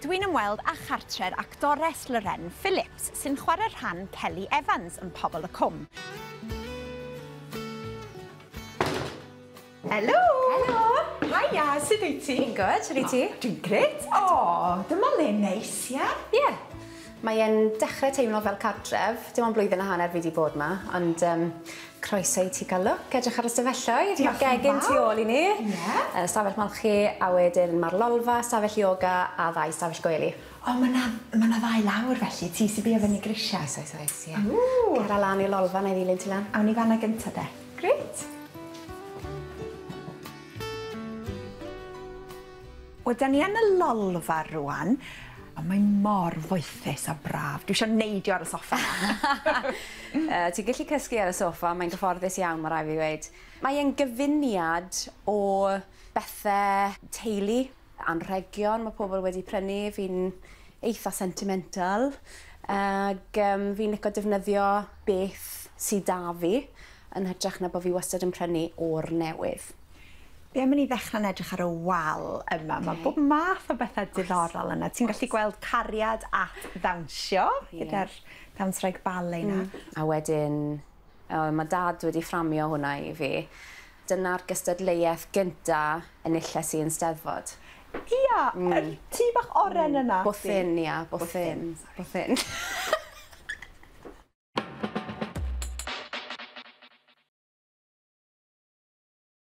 dwi'n ymweld â chartre'r actores Lorraine Phillips sy'n chwarae rhan Kelly Evans yn Pobol y Cwm. Helo! Helo! Hiya, sut wyt ti? Fi'n good, sut wyt ti? Dwi'n grêt. O, dyma le neis, ie? Ie. Mae e'n dechrau teimlo fel cartref. Dim ond blwyddyn a hanner fi 'di bod 'ma, ond croeso i ti gael look, edrych ar y stafelloedd. Mae'r gegin tu ôl i ni. Ie. Stafell molchi, a wedyn mae'r lolfa, stafell yoga a ddau stafell gwely. O, mae 'na ma' 'na ddau lawr felly, ti sy bia fyny grisiau. Oes, oes, oes, ie. Ww! Cer lan i'r lolfa, na i ddilyn ti lan. Awn ni fan'na gynta de. Grêt. Wel, 'dan ni yn y lolfa rŵan, a mae mor foethus a braf. Dwi isio neidio ar y soffa 'ma. Ti'n gallu cysgu ar y soffa, mae'n gyfforddus iawn, mae rhaid fi weud. Mae e'n gyfuniad o bethe teulu, anrhegion mae pobl wedi prynu, fi'n eitha sentimental, ag fi'n licio defnyddio beth sy 'da fi, yn hytrach na bod fi wastad yn prynu o'r newydd. Be am i ni ddechrau'n edrych ar y wal yma? Mae bob math o bethau diddorol yna. Ti'n gallu gweld cariad at ddawnsio gyda'r dawnswraig ballet 'na. A wedyn, mae dad wedi fframio hwnna i fi. Dyna'r gystadleuaeth gynta enilles i yn Steddfod. Ia, yr tŷ bach oren yna. Bwthyn, ia, bwthyn. Bwthyn.